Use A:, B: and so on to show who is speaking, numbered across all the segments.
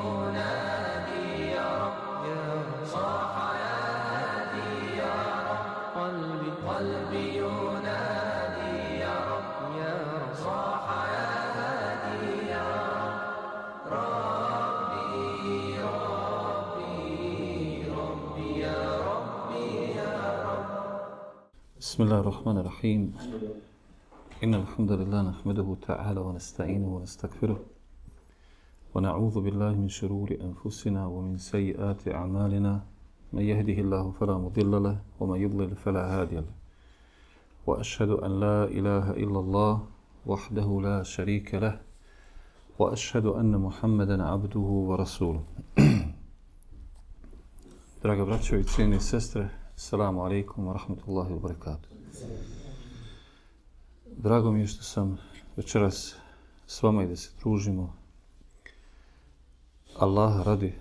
A: ينادي يا رب صاح يا هادي يا رب قلبي ينادي يا رب صاح يا هادي يا رب ربي يا ربي يا رب.
B: بسم الله الرحمن الرحيم. إن الحمد لله نحمده تعالى ونستعينه ونستغفره ونعوذ بالله من شرور أنفسنا ومن سيئات أعمالنا من يهده الله فلا مضل له ومن يضلل فلا هادي له وأشهد أن لا إله إلا الله وحده لا شريك له وأشهد أن محمدا عبده ورسوله. Draga braćo i cijene sestre, assalamu alaikum wa rahmatullahi wa barakatuh. Drago mi je što sam večeras s vama i da se družimo Allaha radi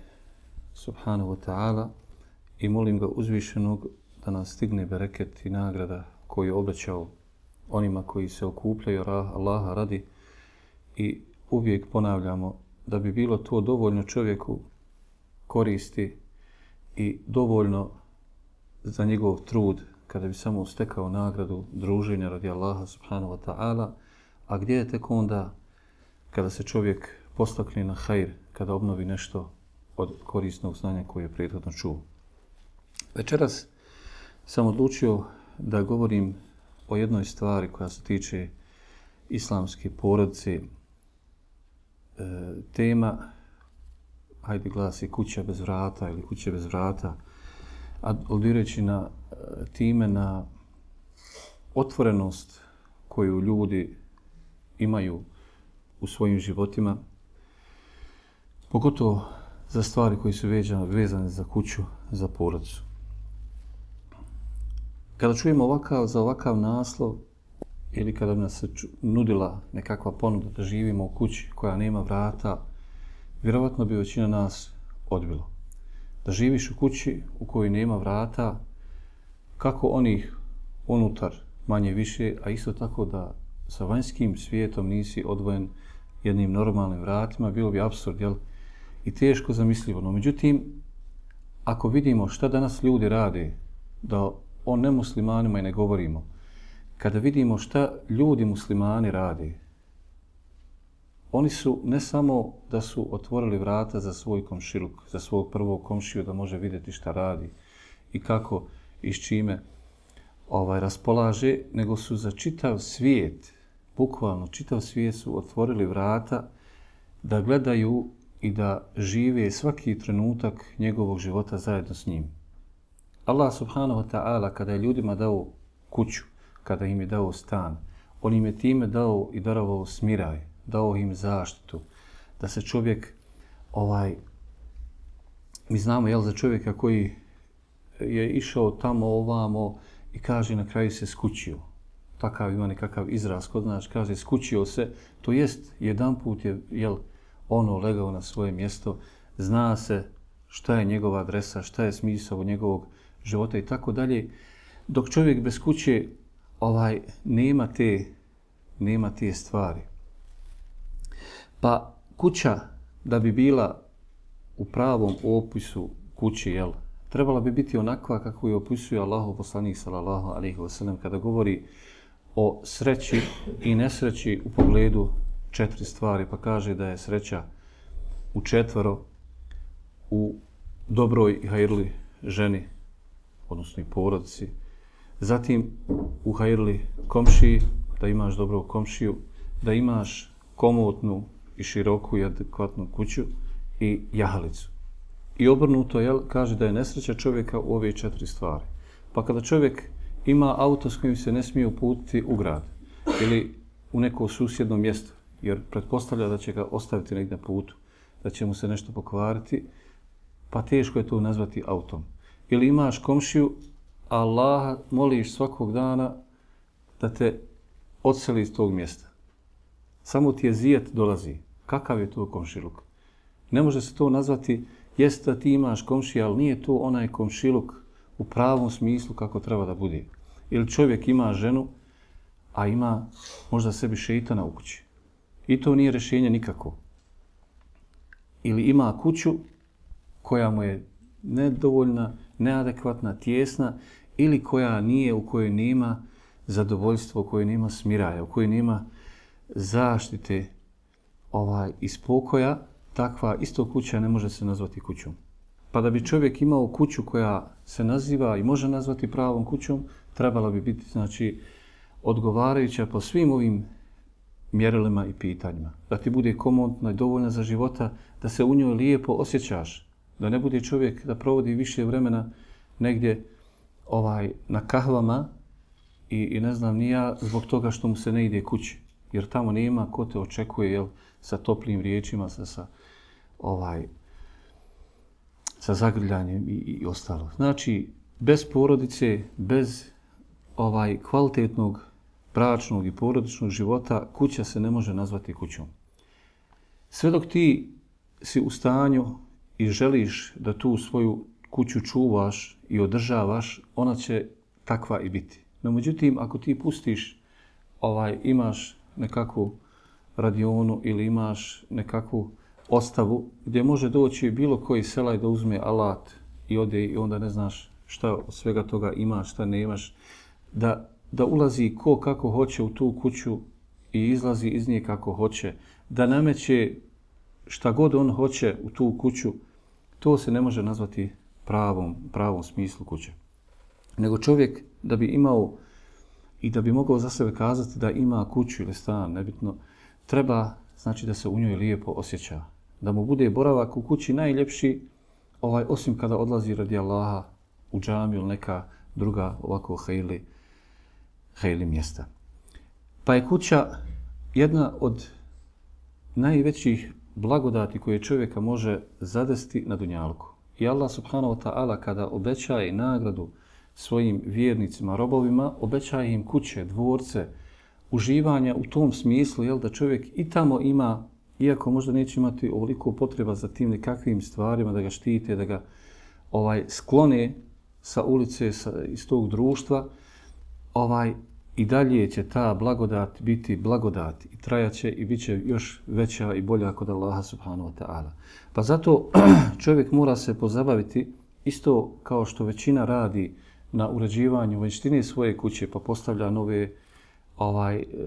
B: subhanahu wa ta'ala i molim ga uzvišenog da nas stigne bereket i nagrada koju je obećao onima koji se okupljaju Allaha radi i uvijek ponavljamo da bi bilo to dovoljno čovjeku koristi i dovoljno za njegov trud kada bi samo stekao nagradu druženja radi Allaha subhanahu wa ta'ala, a gdje je tek onda kada se čovjek postakne na hajr, kada obnovi nešto od korisnog znanja koje je prethodno čuo. Večeras sam odlučio da govorim o jednoj stvari koja se tiče islamske porodice. Tema, hajde glasi, kuća bez vrata ili kuće bez vrata, aludirajući na time na otvorenost koju ljudi imaju u svojim životima, pogotovo za stvari koji su vezane za kuću, za porodicu. Kada čujemo za ovakav naslov ili kada bi nas se nudila nekakva ponuda da živimo u kući koja nema vrata, vjerovatno bi većina nas odbilo. Da živiš u kući u kojoj nema vrata, kako onih unutar manje više, a isto tako da sa vanjskim svijetom nisi odvojen jednim normalnim vratima, bilo bi apsurd, jel? I teško zamislivo. No, međutim, ako vidimo šta danas ljudi rade, da o nemuslimanima i ne govorimo, kada vidimo šta ljudi muslimani rade, oni su ne samo da su otvorili vrata za svoj komšiluk, za svog prvog komšiju da može vidjeti šta radi i kako i s čime raspolaže, nego su za čitav svijet, bukvalno čitav svijet su otvorili vrata da gledaju i da žive svaki trenutak njegovog života zajedno s njim. Allah subhanahu wa ta'ala kada je ljudima dao kuću, kada im je dao stan, on im je time dao i darovao smiraj, dao im zaštitu, da se čovjek, mi znamo za čovjeka koji je išao tamo ovamo i kaže na kraju se skućio. Takav ima nekakav izraz kod nas, kaže skućio se, to jest jedanput je legao na svoje mjesto, zna se šta je njegova adresa, šta je smisao njegovog života i tako dalje. Dok čovjek bez kuće nema te stvari. Pa kuća da bi bila u pravom opisu kući, trebala bi biti onakva kako je opisuje Allahov poslanik sallallahu alejhi ve sellem kada govori o sreći i nesreći u pogledu 4 stvari, pa kaže da je sreća u 4, u dobroj i hajrli ženi, odnosno i porodici, zatim u hajrli komšiji, da imaš dobrog komšiju, da imaš komotnu i široku i adekvatnu kuću i jahalicu. I obrnuto, kaže da je nesreća čovjeka u ove 4 stvari. Pa kada čovjek ima auto s kojim se ne smije uputiti u grad ili u neko susjedno mjesto, jer pretpostavlja da će ga ostaviti negdje na putu, da će mu se nešto pokvariti, pa teško je to nazvati autom. Ili imaš komšiju, Allaha moliš svakog dana da te odseli iz tog mjesta. Samo ti je zijet dolazi. Kakav je to komšiluk? Ne može se to nazvati, jest da ti imaš komšija, ali nije to onaj komšiluk u pravom smislu kako treba da bude. Ili čovjek ima ženu, a ima možda sebi šeitana u kući. I to nije rješenje nikako. ili ima kuću koja mu je nedovoljna, neadekvatna, tijesna ili koja nije, u kojoj nema zadovoljstva, u kojoj nema smiraja, u kojoj nema zaštite i spokoja, takva isto kuća ne može se nazvati kućom. Pa da bi čovjek imao kuću koja se naziva i može nazvati pravom kućom, trebala bi biti znači odgovarajuća po svim ovim mjerilima i pitanjima. Da ti bude komotna i dovoljna za života, da se u njoj lijepo osjećaš, da ne bude čovjek da provodi više vremena negdje na kahvama i ne znam ni ja zbog toga što mu se ne ide kući. Jer tamo nema ko te očekuje sa toplim riječima, sa zagrljanjem i ostalo. Znači, bez porodice, bez kvalitetnog bračnog i porodičnog života, kuća se ne može nazvati kućom. Sve dok ti si u stanju i želiš da tu svoju kuću čuvaš i održavaš, ona će takva i biti. No, međutim, ako ti pustiš, imaš nekakvu radionu ili imaš nekakvu ostavu gdje može doći bilo koji selaj da uzme alat i ode i onda ne znaš šta od svega toga imaš, šta nemaš, da ulazi ko kako hoće u tu kuću i izlazi iz nje kako hoće, da nameće šta god on hoće u tu kuću, to se ne može nazvati pravom smislu kuće. Nego čovjek da bi imao i da bi mogao za sebe kazati da ima kuću ili stan, nebitno, treba znači da se u njoj lijepo osjeća. Da mu bude boravak u kući najljepši, osim kada odlazi radi Allaha u džamiju ili neka druga ovako hejli mjesta. Pa je kuća jedna od najvećih blagodati koje čovjeka može zadesti na dunjalku. I Allah subhanahu wa ta'ala kada obećaje nagradu svojim vjernicima, robovima, obećaje im kuće, dvorce, uživanja u tom smislu, da čovjek i tamo ima, iako možda neće imati ovoliko potreba za tim nekakvim stvarima, da ga štite, da ga sklone sa ulice, iz tog društva, i dalje će ta blagodat biti blagodat i trajaće i bit će još veća i bolja kod Allaha subhanahu wa ta'ala. Pa zato čovjek mora se pozabaviti isto kao što većina radi na uređivanju vanjštine svoje kuće, pa postavlja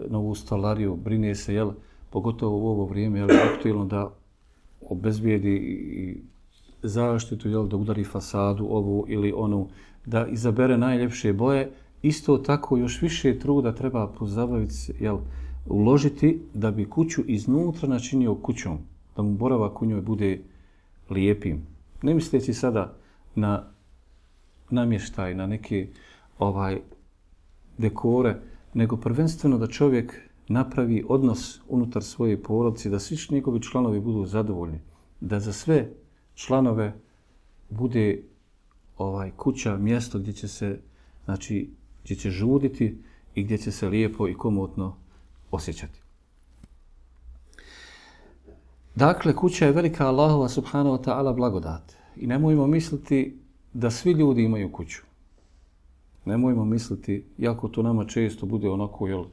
B: novu stolariju, brine se, pogotovo u ovo vrijeme, aktualno da obezbijedi i zaštitu, da udari fasadu ovu ili onu, da izabere najljepše boje. Isto tako još više truda treba pozabaviti, uložiti da bi kuću iznutra načinio kućom, da mu boravak u njoj bude lijepim. Ne misleći sada na namještaj, na neke dekore, nego prvenstveno da čovjek napravi odnos unutar svoje porodice, da svi njegovi članovi budu zadovoljni, da za sve članove bude kuća, mjesto gdje će se, gdje će žuditi i gdje će se lijepo i komotno osjećati. Dakle, kuća je velika Allahova subhanahu wa ta'ala blagodat. I nemojmo misliti da svi ljudi imaju kuću. Nemojmo misliti, jako to nama često bude onako,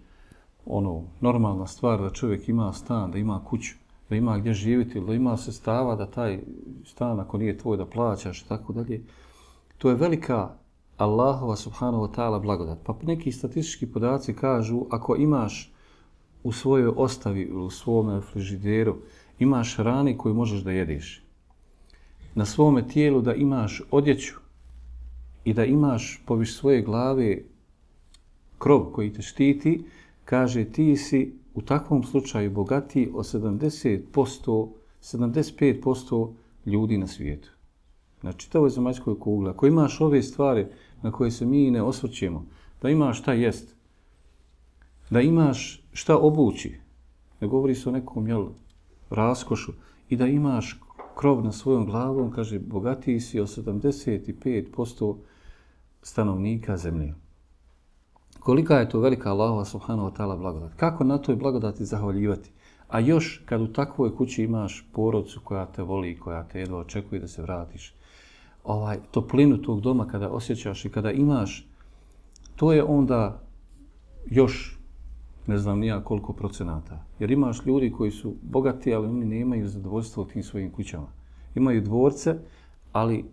B: normalna stvar da čovjek ima stan, da ima kuću, da ima gdje živjeti, da ima sredstava da taj stan, ako nije tvoj, da plaćaš i tako dalje. To je velika Allahova subhanahu wa ta'ala blagodat. Pa neki statistički podaci kažu, ako imaš u svojoj ostavi, u svome frižideru, imaš hrane koju možeš da jedeš, na svome tijelu da imaš odjeću i da imaš poviš svoje glave krov koji te štiti, kaže ti si u takvom slučaju bogatiji od 75% ljudi na svijetu. Na čitavoj zemaljskoj kugli. Ako imaš ove stvari na koje se mi ne osvrćemo, da imaš šta jest, da imaš šta obući, ne govori se o nekom raskošu, i da imaš krov na svojom glavom, kaže, bogatiji si od 75% stanovnika zemlje. Kolika je to velika Allahova subhanahu wa ta'ala blagodat? Kako na toj blagodati zahvaljivati? A još kad u takvoj kući imaš porodicu koja te voli, koja te jedva očekuje da se vratiš, toplinu tog doma kada osjećaš i kada imaš, to je onda još ne znam nija koliko procenata. Jer imaš ljudi koji su bogati, ali oni nemaju zadovoljstvo u tim svojim kućama. Imaju dvorce, ali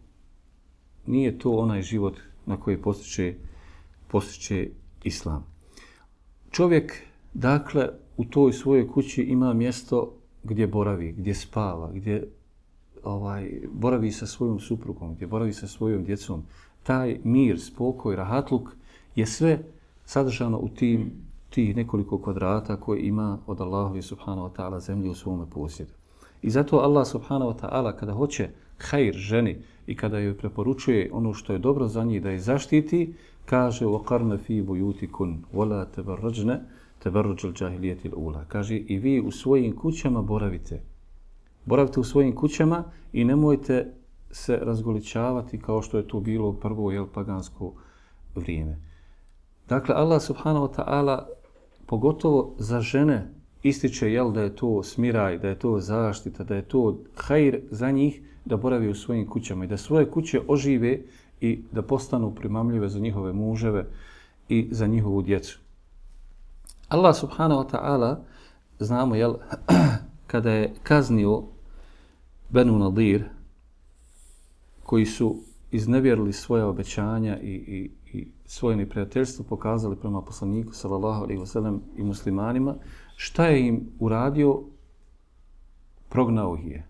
B: nije to onaj život na koji postiče islam. Čovjek, dakle, u toj svojoj kući ima mjesto gdje boravi, gdje spava, gdje boravi sa svojom suprugom, gdje boravi sa svojom djecom. Taj mir, spokoj, rahatluk je sve sadržano u tih nekoliko kvadrata koje ima od Allahovi subhanahu wa ta'ala zemlje u svome posjedu. I zato Allah subhanahu wa ta'ala kada hoće hajr ženi i kada joj preporučuje ono što je dobro za njih da je zaštiti, kaže وَقَرْنَ فِي بُيُوتِكُنْ وَلَا تَبَرَّجْنَ تَبَرُّجَ الْجَاهِلِيَةِ الْأُولَى. Kaže i vi u svojim kućama boravite. Boravite u svojim kućama i nemojte se razgoličavati kao što je to bilo u prvo pagansko vrijeme. Dakle, Allah subhanahu wa ta'ala pogotovo za žene ističe da je to smiraj, da je to zaštita, da je to hajr za njih da boravi u svojim kućama i da svoje kuće ožive i da postanu primamljive za njihove muževe i za njihovu djecu. Allah subhanahu wa ta'ala, znamo, kada je kaznio Benu Nadir, koji su iznevjerili svoje obećanja i svoje neprijateljstvo pokazali prema poslaniku sallallahu alejhi ve sellem i muslimanima, šta je im uradio? Prognao ih je.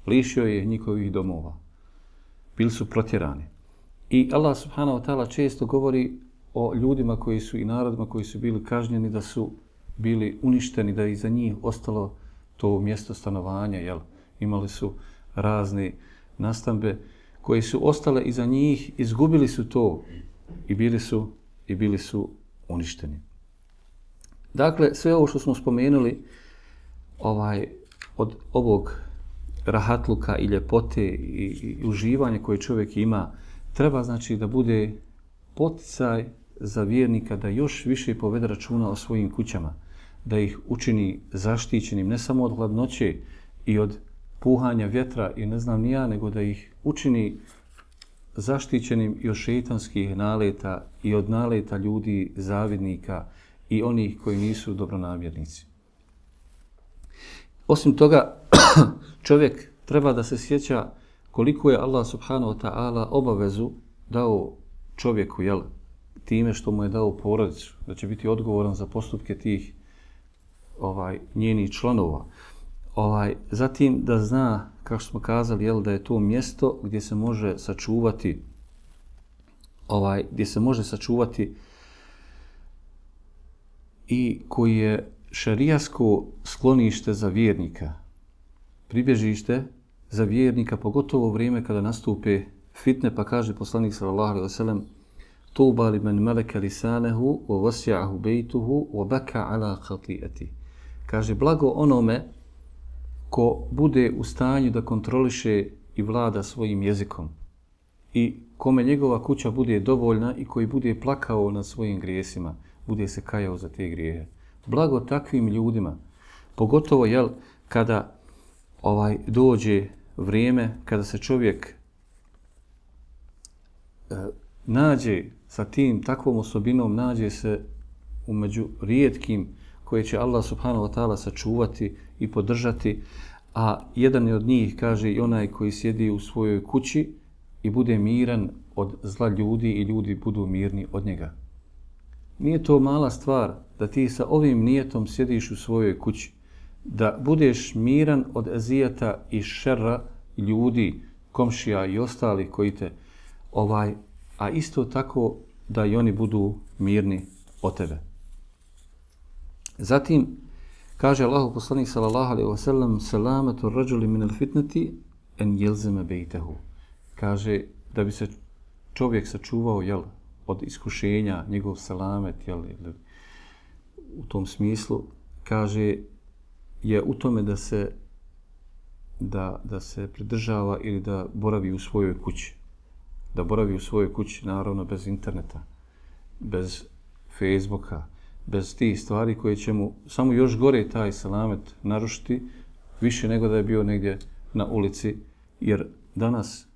B: Lišio je njihovih domova. Bili su protjerani. I Allah subhanahu wa ta'ala često govori o ljudima koji su i narodima koji su bili kažnjeni da su bili uništeni, da je iza njih ostalo to mjesto stanovanja. Imali su razne nastambe koje su ostale iza njih, izgubili su to i bili su uništeni. Dakle, sve ovo što smo spomenuli od ovog rahatluka i ljepote i uživanja koje čovjek ima, treba znači da bude poticaj za vjernika da još više povede računa o svojim kućama, da ih učini zaštićenim ne samo od hladnoće i od puhanja vjetra i ne znam ni ja, nego da ih učini zaštićenim i od šejtanskih naleta i od naleta ljudi zavidnika i onih koji nisu dobronamjernici. Osim toga, čovjek treba da se sjeća koliko je Allah subhanahu wa ta'ala obavezu dao čovjeku, time što mu je dao porodicu, da će biti odgovoran za postupke tih njenih članova. Zatim da zna, kako smo kazali, da je to mjesto gdje se može sačuvati i koji je šerijasko sklonište za vjernika, pribježište za vjernika, pogotovo u vrijeme kada nastupe fitne, pa kaže poslanik sallallahu alejhi ve sellem: "Tuba liman malaka lisanehu wa wasi'ahu baytuhu wa baka ala khati'ati." Kaže, blago onome ko bude u stanju da kontroliše i vlada svojim jezikom i kome njegova kuća bude dovoljna i koji bude plakao nad svojim grijesima, bude se kajao za te grijehe. Blago takvim ljudima, pogotovo kada dođe vrijeme, kada se čovjek nađe sa takvom osobinom, nađe se umeđu rijetkim koje će Allah subhanahu wa ta'ala sačuvati i podržati, a jedan je od njih, kaže, i onaj koji sjedi u svojoj kući i bude miran od zla ljudi i ljudi budu mirni od njega. Nije to mala stvar da ti sa ovim nijetom sjediš u svojoj kući, da budeš miran od ezijeta i šerra ljudi, komšija i ostali koji te a isto tako da i oni budu mirni od tebe. Zatim kaže Allahov poslanik sallallahu alejhi ve sellem: "Selamatu ar-rajuli min al-fitnati an yalzama baytahu." Kaže da bi se čovjek sačuvao od iskušenja, njegov selamet u tom smislu, kaže je u tome da se pridržava ili da boravi u svojoj kući. Da boravi u svojoj kući, naravno bez interneta, bez Facebooka, bez tih stvari koje će mu samo još gore taj selamet narušiti, više nego da je bio negdje na ulici, jer danas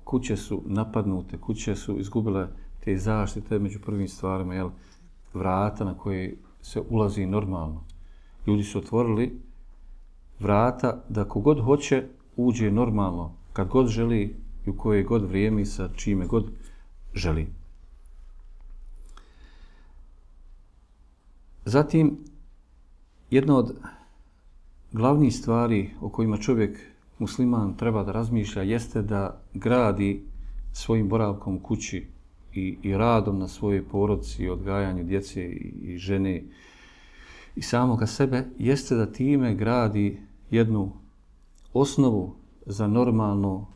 B: kuće su napadnute, kuće su izgubile te zaštite među prvim stvarima, vrata na koje se ulazi normalno. Ljudi su otvorili vrata da kogod hoće uđe normalno, kad god želi i u koje god vrijeme i sa čime god želi. Zatim, jedna od glavnih stvari o kojima čovjek musliman treba da razmišlja jeste da gradi svojim boravkom u kući i radom na svojoj porodici, odgajanju djece i žene i samoga sebe, jeste da time gradi jednu osnovu za normalno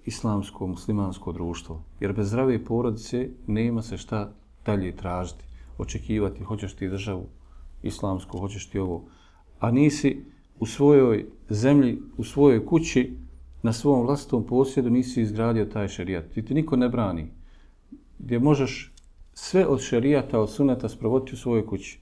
B: islamsko, muslimansko društvo. Jer bez zdrave porodice nema se šta dalje tražiti, očekivati, hoćeš ti državu islamsku, hoćeš ti ovo, a nisi u svojoj zemlji, u svojoj kući, na svom vlastitom posjedu nisi izgradio taj šerijat. Ti niko ne brani. Gdje možeš sve od šerijata, od suneta sprovoditi u svojoj kući.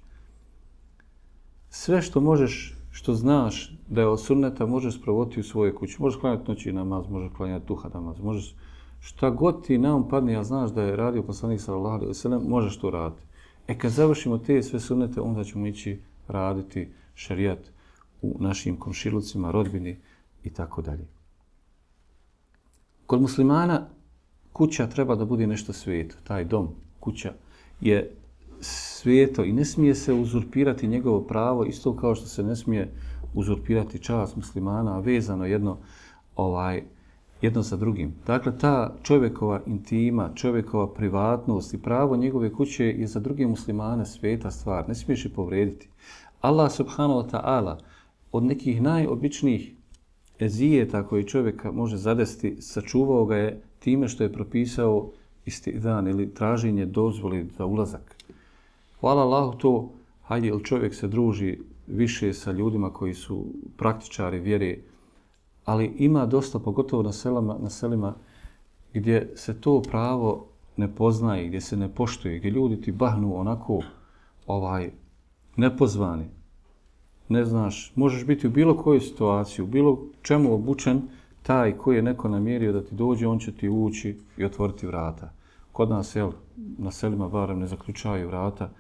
B: Sve što možeš, što znaš da je od sunneta, možeš sprovoditi u svojoj kući. Možeš klanjati noći namaz, možeš klanjati duha namaz, možeš šta god ti na um padne, a znaš da je radio poslanik sallallahu alejhi ve sellem, možeš to raditi. Kad završimo te sve sunnete, onda ćemo ići raditi šerijat u našim komšilucima, rodbini i tako dalje. Kod muslimana kuća treba da bude nešto sveto. Taj dom, kuća je sveto i ne smije se uzurpirati njegovo pravo, isto kao što se ne smije uzurpirati čast muslimana, a vezano jedno sa drugim. Dakle, ta čovjekova intima, čovjekova privatnost i pravo njegove kuće je za druge muslimane sveta stvar. Ne smiješ je povrediti. Allah subhanahu wa ta'ala od nekih najobičnijih ezijeta koji čovjeka može zadesti, sačuvao ga je time što je propisao istidan ili traženje dozvoli za ulazak. Hvala Allahu to, hajde, jer čovjek se druži više sa ljudima koji su praktičari vjere, ali ima dosta, pogotovo na selima, gdje se to pravo ne poznaje, gdje se ne poštuje, gdje ljudi ti bahnu onako nepozvani. Ne znaš, možeš biti u bilo kojoj situaciji, u bilo čemu obučen, taj koji je neko namjerio da ti dođe, on će ti ući i otvoriti vrata. Kod nas, na selima barem ne zaključaju vrata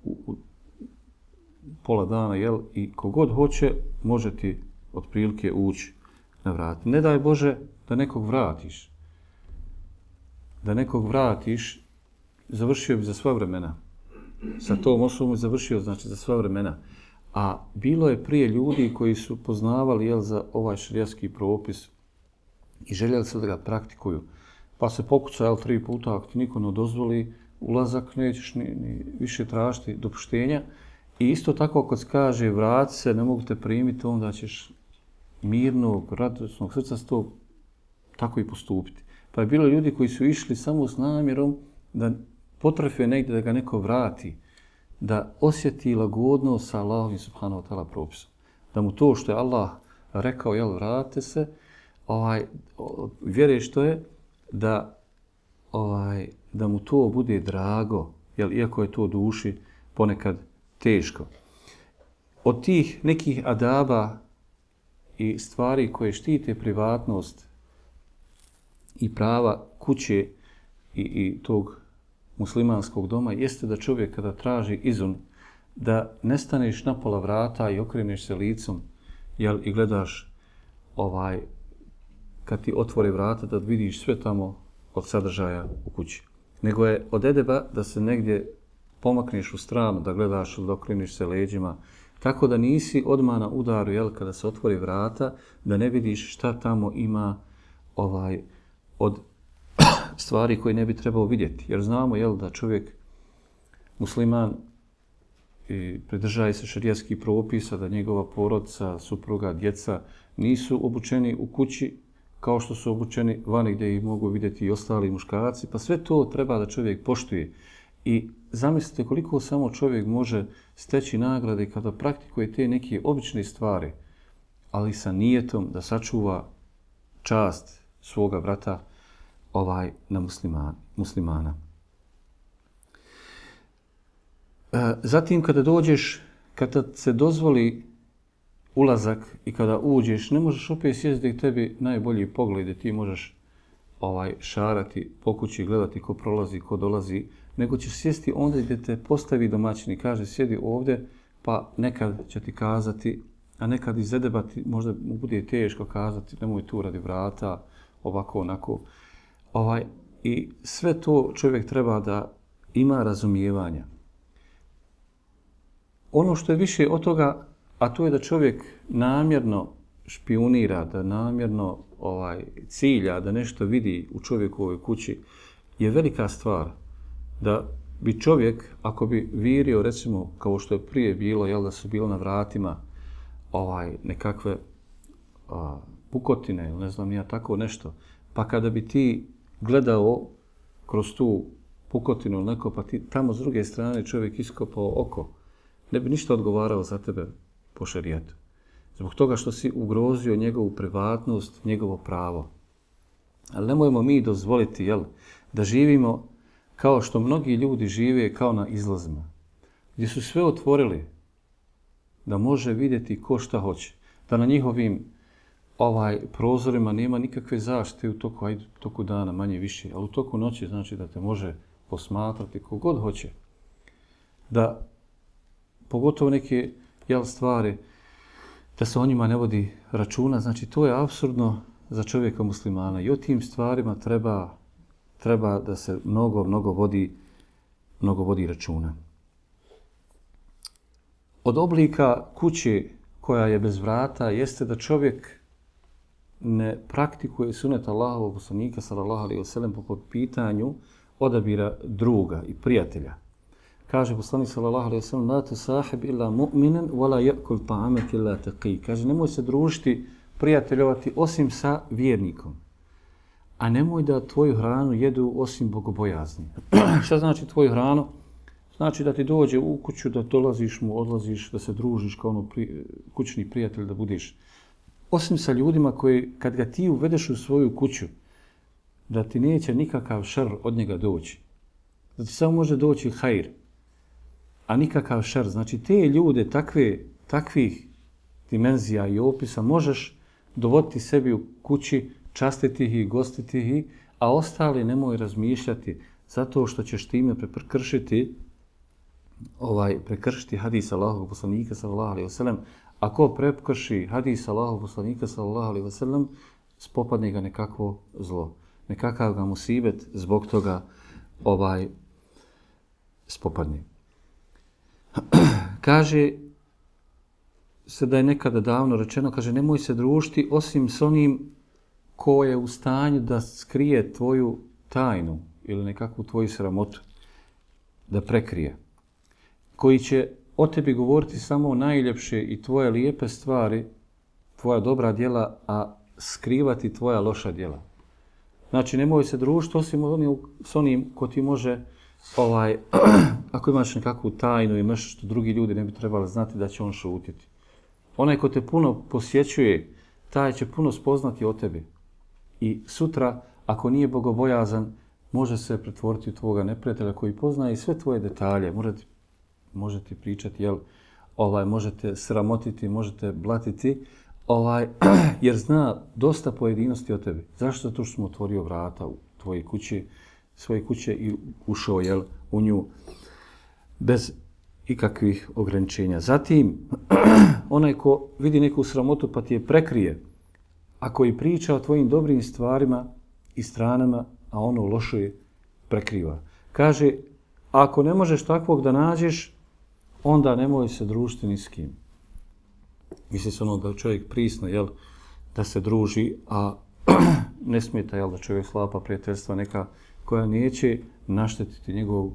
B: u pola dana, i kogod hoće, može ti otprilike ući na vrata. Ne daj Bože da nekog vratiš. Da nekog vratiš, završio bi za sva vremena. Sa tom osobom završio, znači, za sva vremena. A bilo je prije ljudi koji su poznavali za ovaj šerijatski propis i željeli se da ga praktikuju. Pa se pokuca 3 puta, ako ti niko ne dozvoli ulazak, nećeš ni više tražiti dopuštenja. I isto tako ako se kaže vrati se, ne mogu te primiti, onda ćeš mirnog, radosnog srca s to tako i postupiti. Pa je bilo ljudi koji su išli samo s namjerom da potrefe negdje da ga neko vrati, da osjeti lagodnost sa Allahovim subhanahu wa ta'ala propisom. Da mu to što je Allah rekao, vrate se, vjeruje što je, da mu to bude drago, iako je to duši ponekad teško. Od tih nekih adaba i stvari koje štite privatnost i prava kuće i tog muslimanskog doma jeste da čovjek kada traži izun, da ne staneš na pola vrata i okreneš se licom i gledaš kad ti otvori vrata da vidiš sve tamo od sadržaja u kući. Nego je od edeba da se negdje pomakneš u stranu, da gledaš ili da okreniš se leđima, tako da nisi odmah na udaru, kada se otvori vrata, da ne vidiš šta tamo ima od stvari koje ne bi trebao vidjeti. Jer znamo, da čovjek musliman pridržaje se šerijatskih propisa, da njegova porodica, supruga, djeca nisu obučeni u kući kao što su obučeni vani gdje ih mogu vidjeti i ostali muškarci. Pa sve to treba da čovjek poštuje. I zamislite koliko samo čovjek može steći nagrade kada praktikuje te neke obične stvari, ali sa nijetom da sačuva čast svoga brata na muslimana. Zatim kada dođeš, kada se dozvoli ulazak i kada uđeš, ne možeš opet sjesti gdje tebi najbolji pogled, ti možeš šarati po kući, gledati ko prolazi, ko dolazi, nego će sjesti onda gdje te postavi domaćin i kaže sjedi ovdje, pa nekad će ti kazati, a nekad izedebati, možda mu bude teško kazati, nemoj tu radi vrata, ovako, onako. I sve to čovjek treba da ima razumijevanja. Ono što je više od toga, a to je da čovjek namjerno špionira, da namjerno cilja, da nešto vidi u čovjekovoj kući, je velika stvar. Da bi čovjek, ako bi virio, recimo, kao što je prije bilo, jel, da su bilo na vratima nekakve pukotine, ili ne znam nija tako nešto, pa kada bi ti gledao kroz tu pukotinu ili neko, pa ti tamo s druge strane čovjek iskopao oko, ne bi ništa odgovarao za tebe po šerijetu. Zbog toga što si ugrozio njegovu privatnost, njegovo pravo. Ali nemojmo mi dozvoliti, jel, da živimo kao što mnogi ljudi žive kao na izlazima, gdje su sve otvorili da može vidjeti ko šta hoće, da na njihovim prozorima nema nikakve zaštite u toku dana, manje više, ali u toku noći znači da te može posmatrati kogod hoće. Da pogotovo neke stvari, da se o njima ne vodi računa, znači to je apsurdno za čovjeka muslimana i o tim stvarima treba da se mnogo vodi računa. Od oblika kuće koja je bez vrata jeste da čovjek ne praktikuje sunet Allahovog poslanika sallallahu alejhi ve sellem po pitanju odabira druga i prijatelja. Kaže poslanik sallallahu alejhi ve sellem: "La tusahib illa mu'minan wa la ya'kul ta'amaka illa taqi." Kaže nemoj se družiti, prijateljovati osim sa vjernikom. A nemoj da tvoju hranu jedu osim bogobojazni. Šta znači tvoju hranu? Znači da ti dođe u kuću, da dolaziš mu, odlaziš, da se družiš kao kućni prijatelj, da budeš. Osim sa ljudima koji, kad ga ti uvedeš u svoju kuću, da ti neće nikakav šer od njega doći. Da ti samo može doći hajr, a nikakav šer. Znači te ljude takvih dimenzija i opisa možeš dovoditi sebi u kući, častiti ih i gostiti ih, a ostali nemoj razmišljati zato što ćeš time prekršiti hadis Allahovog poslanika sallallahu alejhi ve sellem. Ako prekrši hadis Allahovog poslanika sallallahu alejhi ve sellem, spopadne ga nekakvo zlo, nekakav ga musibet zbog toga spopadne. Kaže se da je nekada davno rečeno, kaže nemoj se družiti osim s onim ko je u stanju da skrije tvoju tajnu ili nekakvu tvoju sramotu, da prekrije. Koji će o tebi govoriti samo najljepše i tvoje lijepe stvari, tvoja dobra djela, a skrivati tvoja loša djela. Znači, nemoj se družiti osim s onim ko ti može, ako imaš nekakvu tajnu i nešto što drugi ljudi ne bi trebali znati, da će on šutiti. Onaj ko te puno posjećuje, taj će puno spoznati o tebi. I sutra, ako nije bogobojazan, može se pretvoriti u tvoga neprijatelja koji poznaje sve tvoje detalje. Možete pričati, možete sramotiti, možete blatiti, jer zna dosta pojedinosti o tebi. Zašto? Zato što smo otvorio vrata u svoje kuće i ušao u nju bez ikakvih ograničenja. Zatim, onaj ko vidi neku sramotu pa ti je prekrije, a koji priča o tvojim dobrim stvarima i stranama, a ono loše je prekriva. Kaže, ako ne možeš takvog da nađeš, onda nemoj se družiti ni s kim. Misli se da čovjek prisno, da se druži, a ne smeta, da čovjek sklapa prijateljstva neka koja neće naštetiti njegov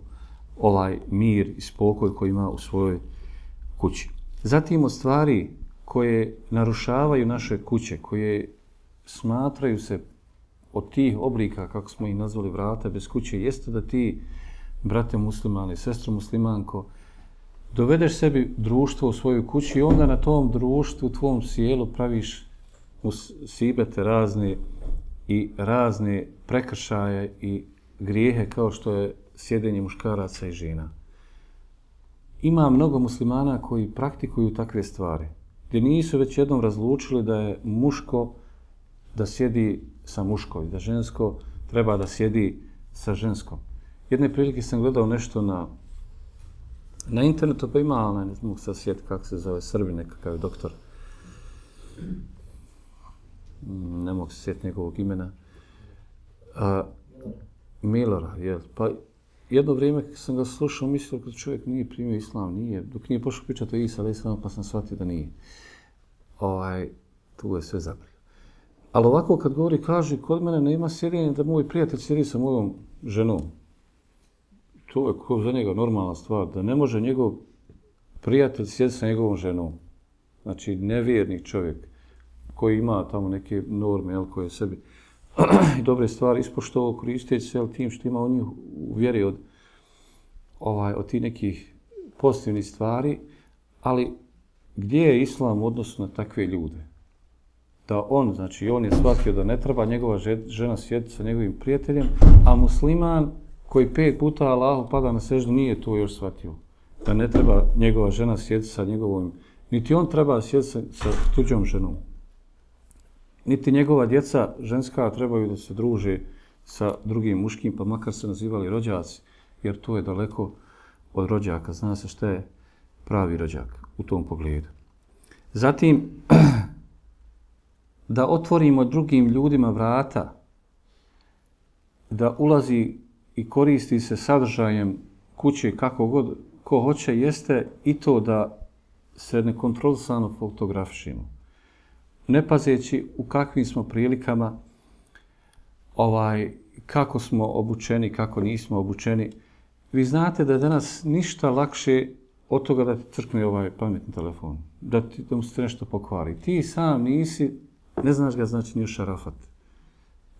B: mir i spokoj koji ima u svojoj kući. Zatim od stvari koje narušavaju naše kuće, koje smatraju se od tih oblika, kako smo ih nazvali, vrata bez kuće, jeste da ti, brate muslimane, sestro muslimanko, dovedeš sebi društvo u svoju kući i onda na tom društvu, u tvom sjelu praviš musibete razne prekršaje i grijehe kao što je sjedenje muškaraca i žena. Ima mnogo muslimana koji praktikuju takve stvari, gdje nisu već jednom razlučili da je muško da sjedi sa muškom, da žensko treba da sjedi sa ženskom. Jedne prilike sam gledao nešto na internetu, pa ima, ne mogu sad sjetiti kako se zove, Srbi nekakav je doktor. Ne mogu se sjetiti njegovog imena. Milorad, je. Pa jedno vrijeme sam ga slušao, mislio kad čovjek nije primio islam, nije, dok nije pošao pričati o Isa, pa sam shvatio da nije. Tu je sve zabrio. Ali ovako kad govori, kaže, kod mene nema sjedinja da moj prijatelj sjedi sa mojom ženom. To je za njega normalna stvar, da ne može njegov prijatelj sjediti sa njegovom ženom. Znači, nevjernik čovjek koji ima tamo neke norme, koje sebi i dobre stvari ispoštovao koristeći se tim što ima on njih u vjeri od tih nekih pozitivnih stvari, ali gdje je islam u odnosu na takve ljude? Da on je shvatio da ne treba njegova žena sjediti sa njegovim prijateljem, a musliman koji 5 puta Allahu pada na seždu nije to još shvatio. Da ne treba njegova žena sjediti sa njegovom, niti on treba sjediti sa tuđom ženom. Niti njegova djeca ženska trebaju da se druže sa drugim muškim, pa makar se nazivali rođaci, jer to je daleko od rođaka. Zna se šta je pravi rođak u tom pogledu. Zatim, da otvorimo drugim ljudima vrata, da ulazi i koristi se sadržajem kuće kako god ko hoće, jeste i to da se nekontrolisano fotografišemo. Ne pazeći u kakvim smo prilikama, kako smo obučeni, kako nismo obučeni. Vi znate da je danas ništa lakše od toga da ti crkne ovaj pametni telefon, da mu se nešto pokvari. Ti sam nisi, ne znaš ga, znači, ni ušarafat.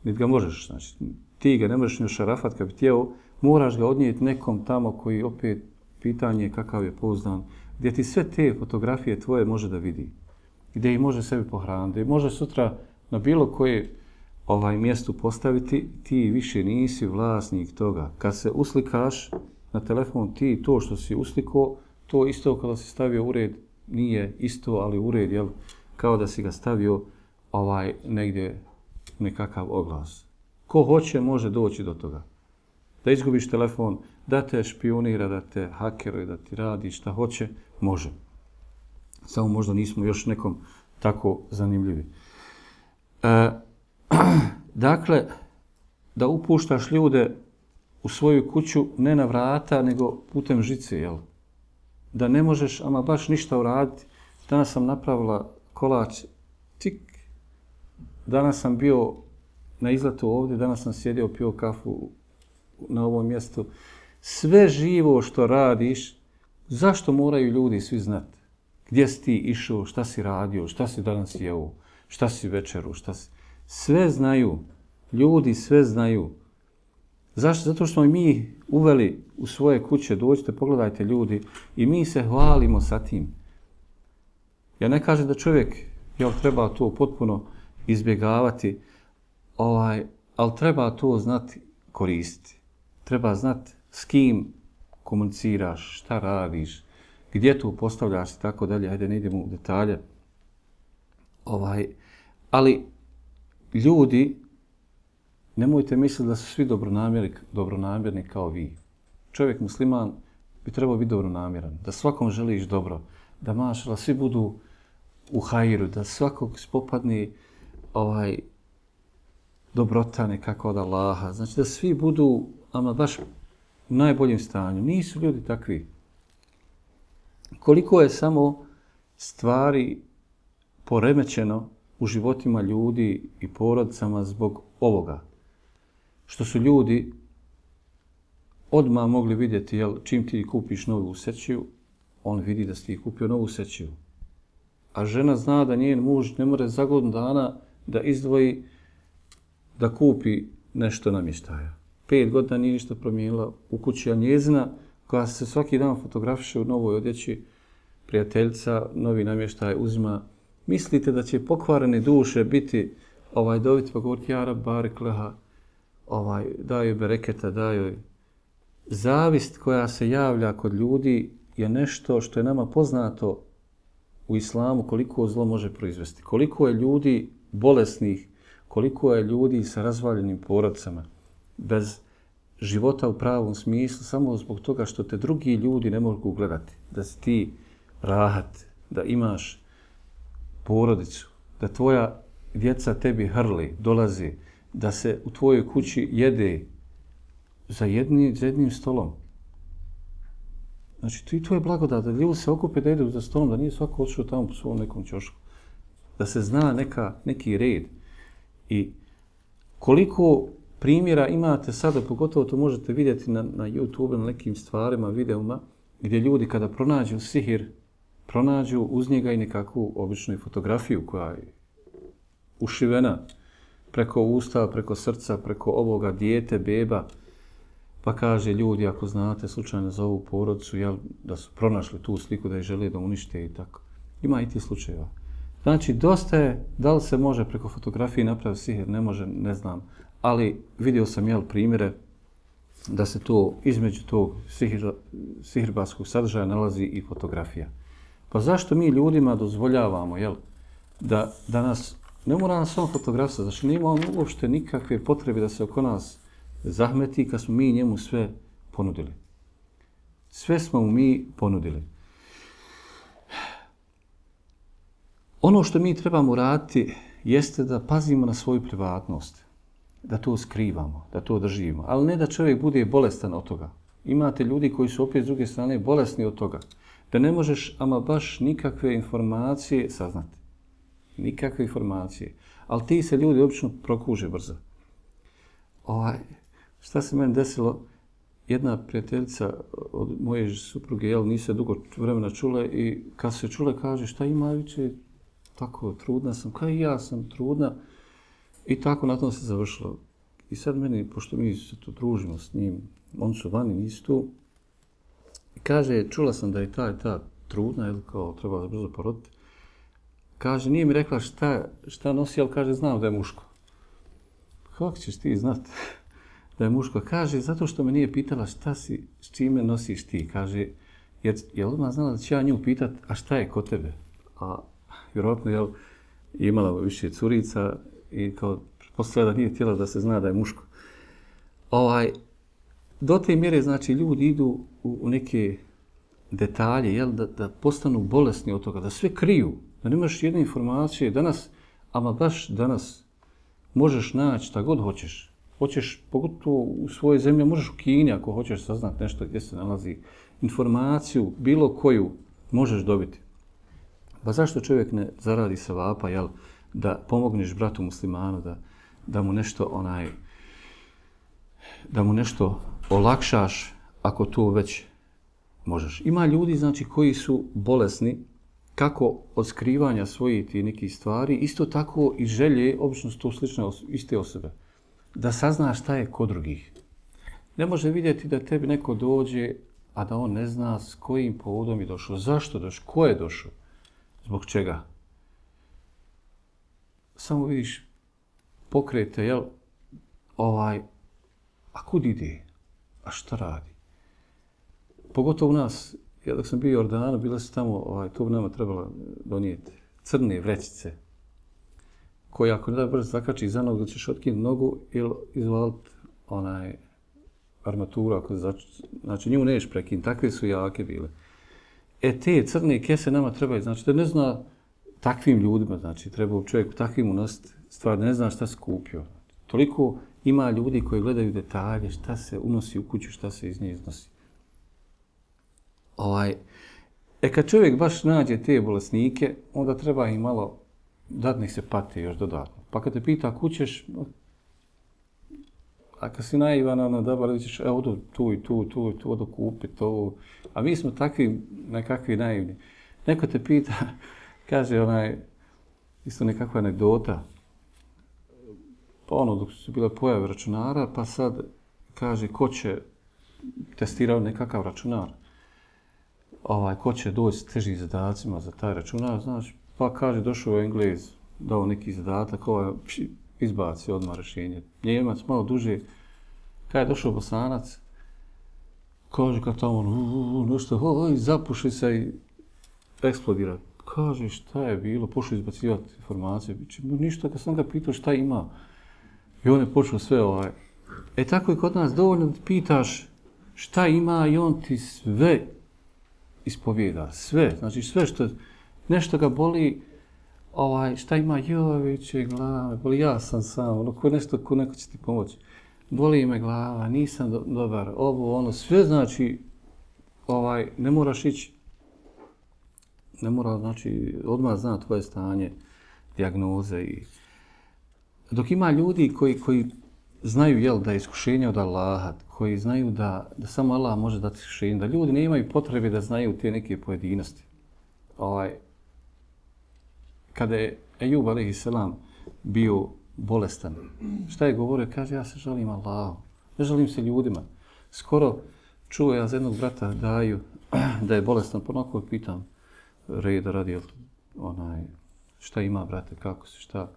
B: Niti ga možeš, znači, ti ga ne možeš ni ušarafat kad bi htjeo, moraš ga odnijeti nekom tamo koji opet pitanje kakav je pouzdan, gdje ti sve te fotografije tvoje može da vidi, gdje ih može sebi pohraniti, može sutra na bilo koje mjestu postaviti, ti više nisi vlasnik toga. Kad se uslikaš na telefon, ti to što si uslikao, to isto kada si stavio ured, nije isto, ali ured, jel, kao da si ga stavio negdje nekakav oglas. Ko hoće može doći do toga. Da izgubiš telefon, da te špionira, da te hakeruje, da ti radi šta hoće, može. Samo možda nismo još nekom tako zanimljivi. Dakle, da upuštaš ljude u svoju kuću ne na vrata, nego putem žice, jel? Da ne možeš ama baš ništa uraditi. Danas sam napravila kolač, tik. Danas sam bio na izletu ovdje, danas sam sjedio, pio kafu na ovom mjestu. Sve živo što radiš, zašto moraju ljudi svi znati? Gdje si ti išao, šta si radio, šta si danas jeo, šta si večeru, šta si... Sve znaju. Ljudi sve znaju. Zašto? Zato što mi uveli u svoje kuće, dođite, pogledajte ljudi, i mi se hvalimo sa tim. Ja ne kažem da čovjek treba to potpuno izbjegavati, ali treba to znati koristiti. Treba znati s kim komuniciraš, šta radiš, gdje to postavljaš i tako dalje. Ajde, ne idemo u detalje. Ali ljudi, nemojte misliti da su svi dobronamjerni kao vi. Čovjek musliman bi trebao biti dobronamjeran, da svakom želiš dobro, da mašala svi budu u hajru, da svakog spopadni dobrota nekako od Allaha. Znači da svi budu ama baš u najboljem stanju. Nisu ljudi takvi. Koliko je samo stvari poremećeno u životima ljudi i porodicama zbog ovoga. Što su ljudi odmah mogli vidjeti, jel, čim ti kupiš novu sećiju, on vidi da si ti kupio novu sećiju. A žena zna da njen muž ne more za godinu dana da izdvoji da kupi nešto namještaja. 5 godina nije ništa promijenila u kući, a njezina koja se svaki dan fotografiše u novoj odjeći, prijateljica, novi namještaj uzima. Mislite da će pokvarene duše biti dobiti pa govoriti ja rab barek leha, daj joj bereketa, daj joj. Zavist koja se javlja kod ljudi je nešto što je nama poznato u islamu koliko zlo može proizvesti. Koliko je ljudi bolesnih, koliko je ljudi sa razvaljenim porodicama, bez života u pravom smislu samo zbog toga što te drugi ljudi ne mogu gledati. Da si ti rahat, da imaš porodicu, da tvoja djeca tebi hrli, dolazi, da se u tvojoj kući jede za jednim stolom. Znači, to je blagodat, da ljudi se okupe da jedu za stolom, da nije svako otišao tamo po svom nekom ćošku. Da se zna neki red. I koliko primjera imate sada, pogotovo to možete vidjeti na YouTube, na nekim stvarima, videoma, gdje ljudi kada pronađu sihir, pronađu uz njega i nekakvu običnu fotografiju koja je ušivena preko usta, preko srca, preko ovoga dijete, beba, pa kaže ljudi, ako znate slučajno za ovu porodicu, jel, da su pronašli tu sliku, da je žele da unište i tako. Ima i ti slučajeva. Znači, dosta je, da li se može preko fotografije napraviti sihir, ne može, ne znam, ali vidio sam primjere da se to između tog sihirbarskog sadržaja nalazi i fotografija. Pa zašto mi ljudima dozvoljavamo, da nas, ne mora nas samo fotografija, znači nema uopšte nikakve potrebe da se oko nas zahmeti kad smo mi njemu sve ponudili. Sve smo mu mi ponudili. Ono što mi trebamo raditi jeste da pazimo na svoju privatnost, da to skrivamo, da to držimo, ali ne da čovjek bude bolestan od toga. Imate ljudi koji su opet s druge strane bolesni od toga, da ne možeš ama baš nikakve informacije saznati. Nikakve informacije. Ali ti se ljudi obično prokuže brzo. Šta se meni desilo? Jedna prijateljica od moje supruge, nije se dugo vremena čule i kad se čule kaže šta ima viče, tako trudna sam, kao i ja sam trudna i tako na tom se završilo. I sad meni, pošto mi se tu družimo s njim, oni su vani, nisu tu, i kaže, čula sam da je ta trudna, kao treba brzo poroditi. Kaže, nije mi rekla šta nosi, ali kaže, znam da je muško. Kako ćeš ti znat da je muško? Kaže, zato što me nije pitala šta si, s čime nosiš ti. Kaže, jer je odmah znala da će ja nju pitat, a šta je kod tebe? A vjerojatno je imala više curica i kao pretpostavlja da nije htjela da se zna da je muško. Do te mjere, znači, ljudi idu u neke detalje, da postanu bolesni od toga, da sve kriju, da nemaš jedne informacije. Danas, ama baš danas, možeš naći šta god hoćeš. Hoćeš, pogotovo u svojoj zemlji, možeš u Kini ako hoćeš saznat nešto gdje se nalazi. Informaciju, bilo koju, možeš dobiti. Pa zašto čovjek ne zaradi sevapa, da pomogneš bratu muslimanu, da mu nešto olakšaš ako to već možeš. Ima ljudi, znači, koji su bolesni kako od skrivanja svojih tih nekih stvari, isto tako i želje, obično su to slične iste osobe, da saznaš šta je kod drugih. Ne može vidjeti da tebi neko dođe, a da on ne zna s kojim povodom je došao, zašto došao, ko je došao, zbog čega. Samo vidiš pokrete, a kud ide, a šta radi. Pogotovo u nas, ja dok sam bio u Jordanu, bile su tamo, to bi nama trebalo donijeti, crne vrećice, koje ako ne da brzo zakači za nogu, da ćeš otkinuti nogu ili izvaliti armaturu, znači nju neš prekinuti, takve su jake bile. Te crne kese nama trebaju, znači da ne zna takvim ljudima, znači treba čovjek takvim unositi stvar, ne zna šta se kupio. Toliko ima ljudi koji gledaju detalje, šta se unosi u kuću, šta se iz nje iznosi. Kad čovjek baš nađe te bolesnike, onda treba im malo dati nek se pate još dodatno. Pa kad te pita kućeš, a kad si naivan, da bar ćeš, odu tu i tu, odu kupi to. A mi smo takvi, nekakvi naivni. Neko te pita, kaže isto nekakva anegdota, dok su bile pojave računara, pa sad kaže ko će testirati nekakav računar. Ko će doći s težim zadacima za taj računar, znaš, pa kaže došao Englez, dao neki zadatak, izbaci odmah rješenje. Njemac malo duže, kada je došao Bosanac, kaže kad tamo nešto, zapuši se i eksplodira. Kaže šta je bilo, pošao izbacivati informacije. Ništa, kad sam ga pitao šta ima. I on je počeo sve Tako i kod nas dovoljno da pitaš šta ima i on ti sve ispovijeda. Sve. Znači sve što nešto ga boli, šta ima, joviće glave, boli, ja sam sam, ko neko će ti pomoći. Boli me glava, nisam dobar, ono, sve znači, ne moraš ići, ne mora, znači, odmah zna tvoje stanje, dijagnoze i... Dok ima ljudi koji znaju, da je iskušenje od Allaha, koji znaju da samo Allah može dati iskušenje, da ljudi ne imaju potrebe da znaju te neke pojedinosti. Kada je Ejub a.s. bio bolestan, šta je govorio? Kaže, ja se žalim Allahu, ne žalim se ljudima. Skoro čuo ja za jednog brata Daju da je bolestan, ponako pitam reda radi, šta ima, brate, kako se, šta?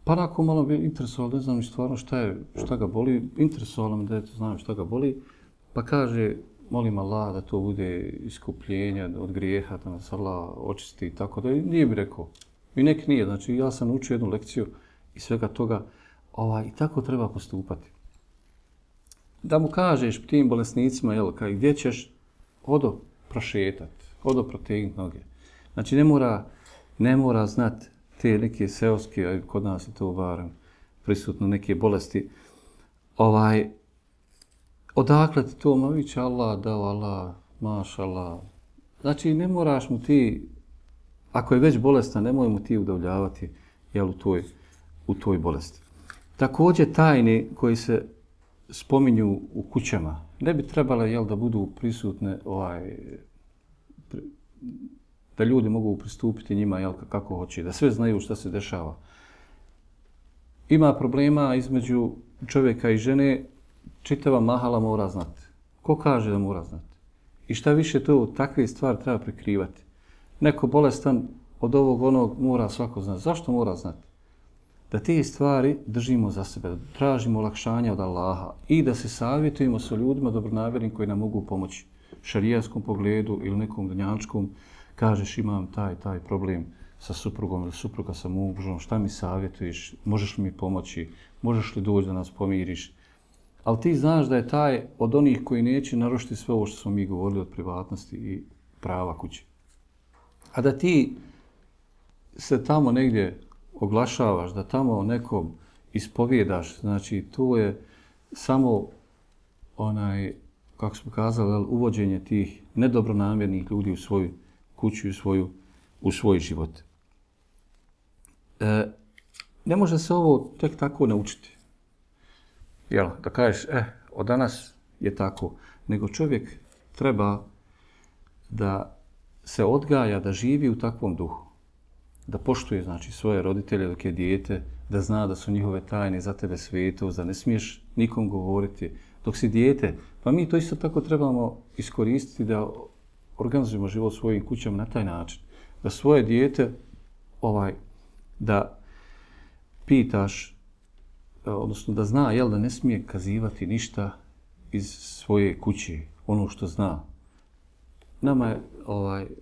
B: Pa onako malo bi interesovalo, ne znam stvarno šta ga boli, interesovalo me da znam šta ga boli, pa kaže, molim Allah da to bude iskupljenje od grijeha, da nas Allah očisti i tako da, nije bi rekao. I nek nije, znači ja sam učio jednu lekciju i svega toga, i tako treba postupati. Da mu kažeš tim bolesnicima, gdje ćeš, odo prošetat, odo protegnut noge. Znači ne mora znati te neke seoske, kod nas je to barem prisutno, neke bolesti. Odakle ti to, ma viće Allah dao, Allah, maš Allah. Znači ne moraš mu ti, ako je već bolestan, nemoj mu ti udavljavati u toj bolesti. Također tajne koji se spominju u kućama, ne bi trebale da budu prisutne, da ljudi mogu pristupiti njima kako hoće, da sve znaju šta se dešava. Ima problema između čovjeka i žene, čitava mahala mora znati. Ko kaže da mora znati? I šta više to, takve stvari treba prikrivati. Neko bolestan od onog mora svako znati. Zašto mora znati? Da te stvari držimo za sebe, da tražimo olakšanja od Allaha i da se savjetujemo sa ljudima dobronamjernim koji nam mogu pomoći šarijaskom pogledu ili nekom dunjačkom. Kažeš imam taj problem sa suprugom ili supruga sa mužom, šta mi savjetuješ, možeš li mi pomoći, možeš li doći da nas pomiriš. Ali ti znaš da je taj od onih koji neće narušiti sve ovo što smo mi govorili od privatnosti i prava kuće. A da ti se tamo negdje oglašavaš, da tamo nekom ispovjedaš, znači to je samo kako smo kazali, uvođenje tih nedobronamjernih ljudi u svoju kuću i u svoj život. Ne može se ovo tek tako naučiti. Da kažeš, od danas je tako. Nego čovjek treba da se odgaja, da živi u takvom duhu. Da poštuje, znači, svoje roditelje dok je dijete, da zna da su njihove tajne za tebe svetost, da ne smiješ nikom govoriti. Dok si dijete, pa mi to isto tako trebamo iskoristiti da organizujemo život svojim kućama na taj način. Da svoje dijete, da pitaš, odnosno da zna, da ne smije kazivati ništa iz svoje kuće, ono što zna. Nama je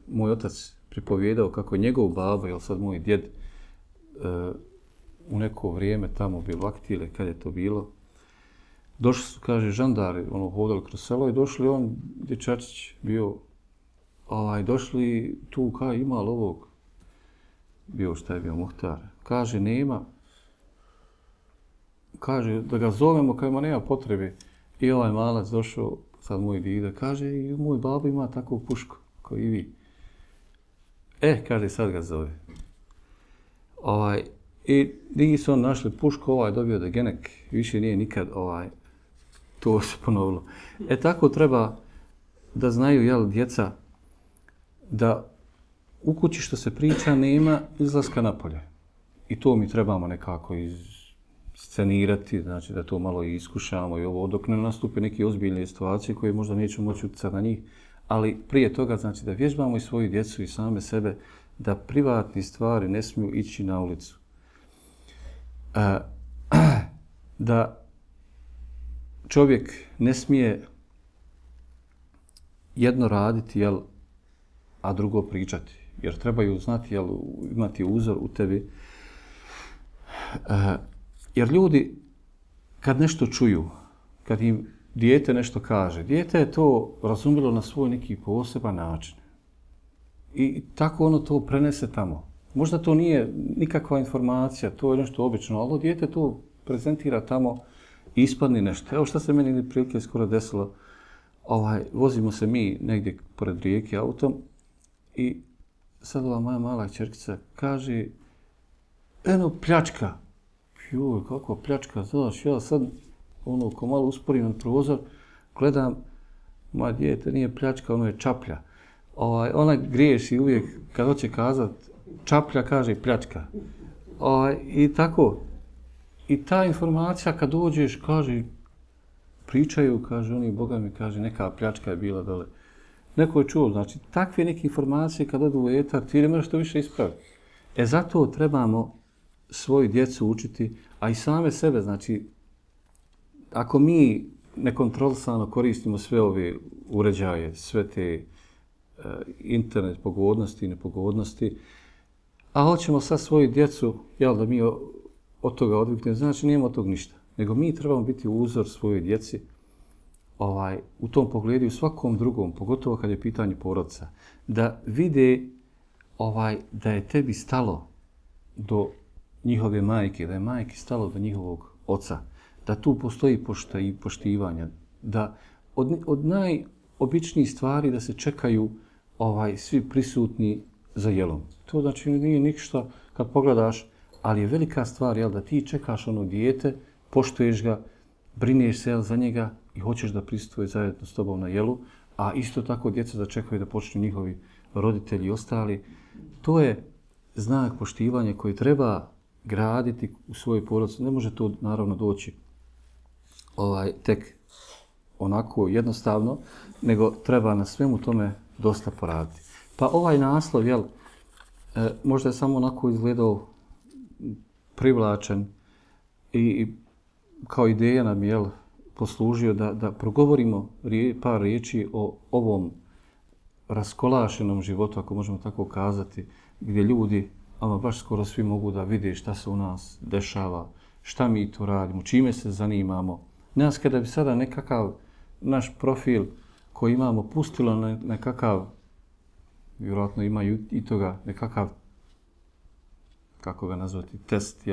B: moj otac pripovjedao kako je njegov baba, sad moj djed, u neko vrijeme tamo bio vaktile, kad je to bilo, došli su, kaže, žandari, hodali kroz selo i došli on, dječačić bio, došli tu, ima li ovog? Šta je bio Muhtar? Kaže, nema. Kaže, da ga zovemo, kaže, nema potrebe. I malac došao, sad moj dida, kaže, i moj babo ima takvu pušku, kao i vi. Kaže, sad ga zove. I digi su on našli pušku, dobio da genek, više nije nikad to se ponovilo. Tako treba da znaju, djeca, da u kući što se priča nema izlaska napolje. I to mi trebamo nekako scenirati, znači da to malo iskušamo i ovo, dok ne nastupe neke ozbiljne situacije koje možda nećemo moći utjecati na njih. Ali prije toga, znači da vježbamo i svoju djecu i same sebe, da privatne stvari ne smiju ići na ulicu. Da čovjek ne smije jedno raditi, a drugo pričati. Jer trebaju znati, imati uzor u tebi. Jer ljudi, kad nešto čuju, kad im dijete nešto kaže, dijete je to razumjelo na svoj neki poseban način. I tako ono to prenese tamo. Možda to nije nikakva informacija, to je nešto obično, ali dijete to prezentira tamo i ispadne nešto. Evo što se meni prilike skoro desilo, vozimo se mi negdje pored rijeke autom i sad ova moja mala ćerkica kaže, eno pljačka. Joj, kakva pljačka, znaš, ja sad ko malo usporim na prozor, gledam, moja dijete nije pljačka, ono je čaplja. Ona griješi uvijek kad hoće kazat čaplja, kaže pljačka. I tako. I ta informacija kad dođeš, kaže, pričaju, kaže oni, Boga mi kaže, neka pljačka je bila dole. Neko je čuo, znači, takve neke informacije kad odu u etar, ti ne možeš to više ispraviti. Zato trebamo svoju djecu učiti, a i same sebe, znači, ako mi nekontrolisano koristimo sve ove uređaje, sve te internet pogodnosti i nepogodnosti, a hoćemo sad svoju djecu, da mi od toga odviknemo, znači nijemo od toga ništa. Nego mi trebamo biti uzor svojoj djeci u tom pogledu i u svakom drugom, pogotovo kad je pitanje porodica, da vide da je tebi stalo do njihove majke, da je majki stalo do njihovog oca, da tu postoji poštivanja, da od najobičnijih stvari da se čekaju svi prisutni za jelom. To znači nije ništa kad pogledaš, ali je velika stvar da ti čekaš ono dijete, poštuješ ga, brineš se za njega i hoćeš da prisutuje zajedno s tobom na jelu, a isto tako djeca da čekaju da počnu njihovi roditelji i ostali. To je znak poštivanja koji treba graditi u svojoj porodici. Ne može to naravno doći tek onako jednostavno, nego treba na svemu tome dosta poraditi. Pa ovaj naslov, možda je samo onako izgledao privlačen i kao ideja nam je poslužio da progovorimo par riječi o ovom raskolašenom životu, ako možemo tako kazati, gdje ljudi, ama baš skoro svi mogu da vide šta se u nas dešava, šta mi to radimo, čime se zanimamo. Nas kada bi sada nekakav naš profil koji imamo pustilo na nekakav, vjerojatno imaju i toga, nekakav, kako ga nazvati, test,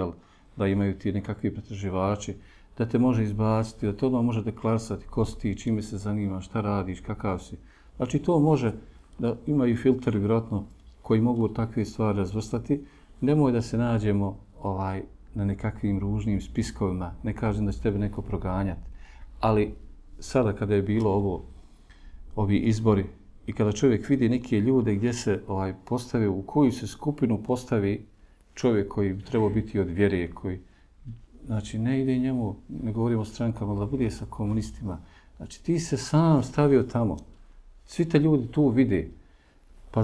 B: da imaju ti nekakvi pretraživači, da te može izbaciti, da te odmah može deklarisati ko si ti, čime se zanima, šta radiš, kakav si. Znači to može da imaju filteri, vjerojatno, koji mogu takve stvari razvrstati. Nemoj da se nađemo na nekakvim ružnim spiskovima, ne kažem da će tebe neko proganjati, ali sada kada je bilo ovi izbori i kada čovjek vidi neke ljude gdje se postave, u koju se skupinu postavi čovjek koji bi trebao biti od vjere, koji, znači ne ide njemu, ne govorimo o strankama, da bude sa komunistima. Znači ti se sam stavio tamo. Svi te ljudi tu vide. Pa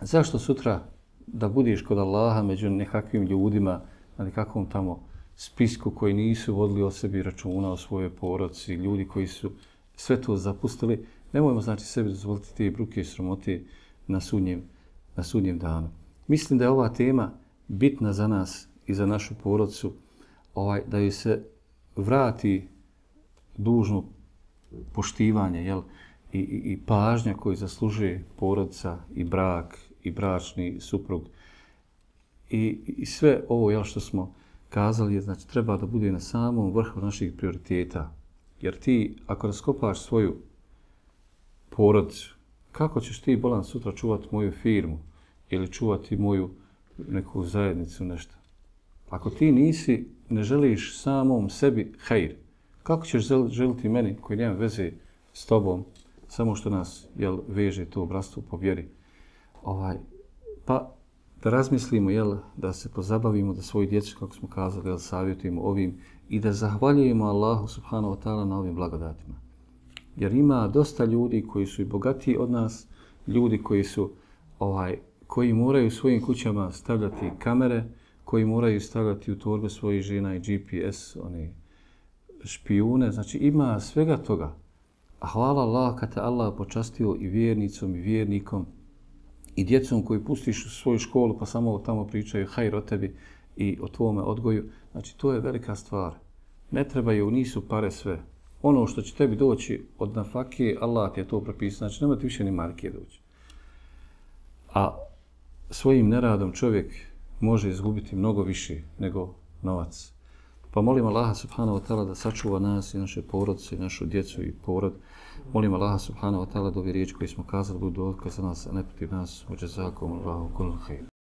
B: zašto sutra da budeš kod Allaha među nekakvim ljudima, na nekakvom tamo spisku koji nisu vodili o sebi računa, o svojoj porodici, ljudi koji su sve to zapustili, nemojmo znači sebi dozvoliti te bruke i sramote na sudnjem danu. Mislim da je ova tema bitna za nas i za našu porodicu, da joj se vrati dužno poštivanje i pažnja koju zaslužuje porodica i brak i bračni suprug. I sve ovo što smo kazali, znači treba da bude na samom vrhu naših prioriteta. Jer ti, ako raskopaš svoju porodicu, kako ćeš ti, bolan, sutra čuvati moju firmu ili čuvati moju neku zajednicu, nešto? Ako ti ne želiš samom sebi hajr, kako ćeš želiti meni koji nema veze s tobom, samo što nas veže to bratstvo po vjeri? Pa da razmislimo, da se pozabavimo, da svoju djecu, kako smo kazali, savjetujemo ovim i da zahvaljujemo Allahu subhanahu wa ta'ala na ovim blagodatima. Jer ima dosta ljudi koji su i bogatiji od nas, ljudi koji moraju u svojim kućama stavljati kamere, koji moraju stavljati u torbe svojih žena i GPS, špijune, znači ima svega toga. A hvala Allah kad te Allah počastio i vjernicom i vjernikom i djecom koji pustiš u svoju školu pa samo tamo pričaju hajr o tebi i o tvome odgoju. Znači to je velika stvar. Ne trebaju, nisu pare sve. Ono što će tebi doći od nafake, Allah ti je to propisao. Znači, nema ti više ni marke doći. A svojim neradom čovjek može izgubiti mnogo više nego novac. Pa molim Allaha subhanahu wa ta'ala da sačuva nas i naše porodice, i našu djecu i porod. Molim Allaha subhanahu wa ta'ala da ovi riječi koji smo kazali budu dokaz za nas, a ne protiv nas. Uđe zakom, Allahu kullu khair.